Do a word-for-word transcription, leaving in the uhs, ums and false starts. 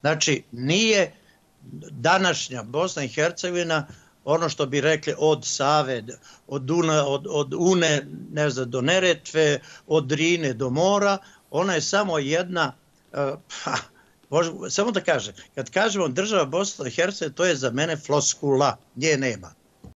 Znači, nije današnja Bosna i Hercegovina ono što bi rekli od Save, od, Duna, od, od Une, ne znam, do Neretve, od Drine do mora, ona je samo jedna, uh, pa, možemo, samo da kažem, kad kažemo država Bosna i Hercegovina, to je za mene floskula, nje nema.